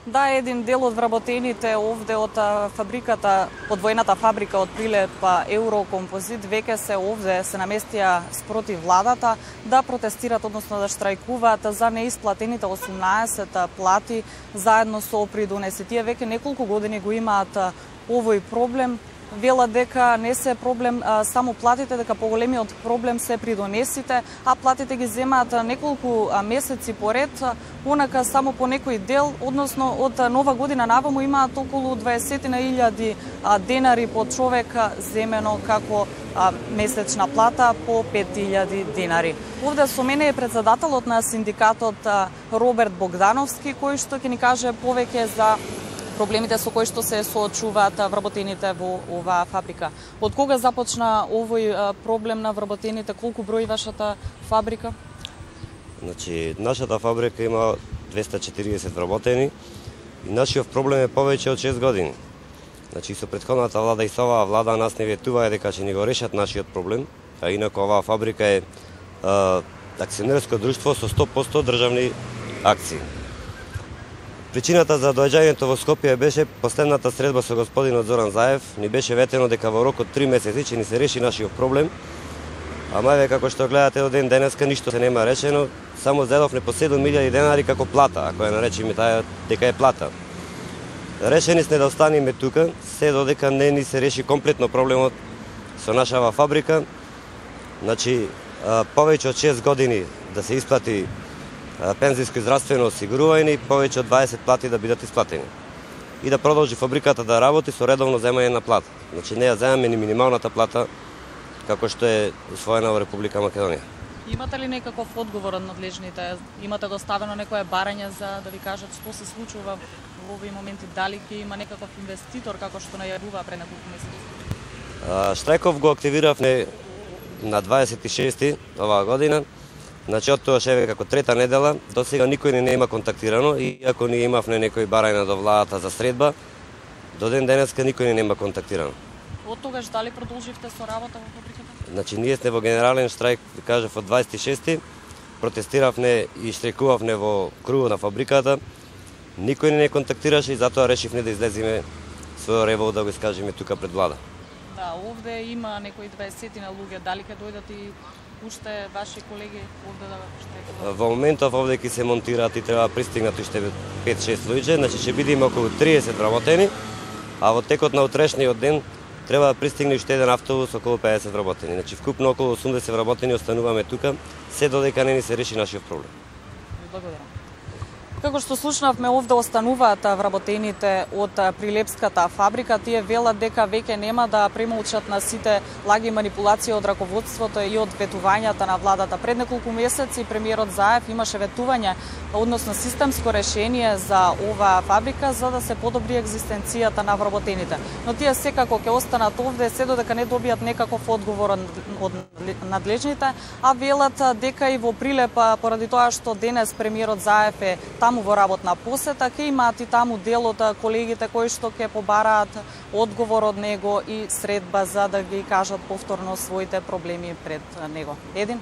Да, еден дел од вработените овде од фабриката, подвоената фабрика од Прилеп Еврокомпозит, веќе се овде, се наместија спротив владата да протестират, односно да штрајкуваат за неисплатените 18 плати заедно со придонеси. Тие веќе неколку години го имаат овој проблем. Велат дека не се проблем само платите, дека поголемиот проблем се придонесите, а платите ги земаат неколку месеци поред, онака само по некој дел, односно од нова година наваму имаат околу 20.000 денари по човек земено како месечна плата по 5.000 денари. Овде со мене е председателот на синдикатот Роберт Богдановски, кој што ќе ни каже повеќе за проблемите со кои што се соочуваат вработените во оваа фабрика. Од кога започна овој проблем на вработените? Колку брои вашата фабрика? Значи, нашата фабрика има 240 вработени и нашиот проблем е повеќе од 6 години. Значи, со претходната влада и со оваа влада нас не ветуваа дека ќе ни го решат нашиот проблем, а инаку оваа фабрика е акционерско друштво со 100% државни акции. Причината за доаѓањето во Скопје беше последната средба со господинот Зоран Заев. Ни беше ветено дека во рок од 3 месеци ќе ни се реши нашиот проблем. Ама еве како што гледате до ден денеска ништо се нема решено, само зедовне по 7.000 денари како плата, ако ја наречеме таа дека е плата. Решени сме да останеме тука, се додека не ни се реши комплетно проблемот со нашава фабрика. Значи, повеќе од 6 години да се исплати пензиско и здравствено осигурување, повеќе од 20 плати да бидат исплатени. И да продолжи фабриката да работи со редовно земање на плата. Значи не ја земаме ни минималната плата како што е усвоена во Република Македонија. Имате ли некаков одговор од надлежните? Имате доставено некое барање за да ви кажат што се случува во овој моменти? Дали ќе има некаков инвеститор како што најавува пред неколку месеци? Штрајков го активиравме на 26 оваа година. Значи, од тоа шеве како трета недела, до сега никој не има контактирано, и ако ние имавме некој барање до владата за средба, до ден денеска никој не има контактирано. Од тогаш дали продолживте со работа во фабриката? Значи, ние сме во генерален штрајк, кажав, од 26-ти, протестиравме и штрајкувавме во кругот на фабриката, никој не контактираше и затоа решивме да излеземе својот револ да го искажеме тука пред влада. Да, овде има некои 20 на луѓе, дали ќе дојдат и уште ваши колеги овде да штрајкуваат? Во моментов овде ќе се монтираат и треба пристигнат уште 5-6 луѓе, значи ќе биде околу 30 вработени, а во текот на утрешниот ден треба да пристигне уште еден автобус околу 50 вработени. Значи вкупно околу 80 вработени остануваме тука, се додека не ни се реши нашиот проблем. Благодарам. Како што слушнавме, овде остануваат вработените од Прилепската фабрика. Тие велат дека веќе нема да премолчат на сите лаги манипулации од раководството и од ветувањата на владата. Пред неколку месеци премиерот Заев имаше ветување, односно системско решение за оваа фабрика за да се подобри екзистенцијата на вработените. Но тие секако ќе останат овде се додека не добијат некаков одговор од надлежните, а велат дека и во Прилеп, поради тоа што денес премиерот Заев е таму во работна посета, ќе имаат и таму дел од колегите кои што ќе побараат одговор од него и средба за да ги кажат повторно своите проблеми пред него. Един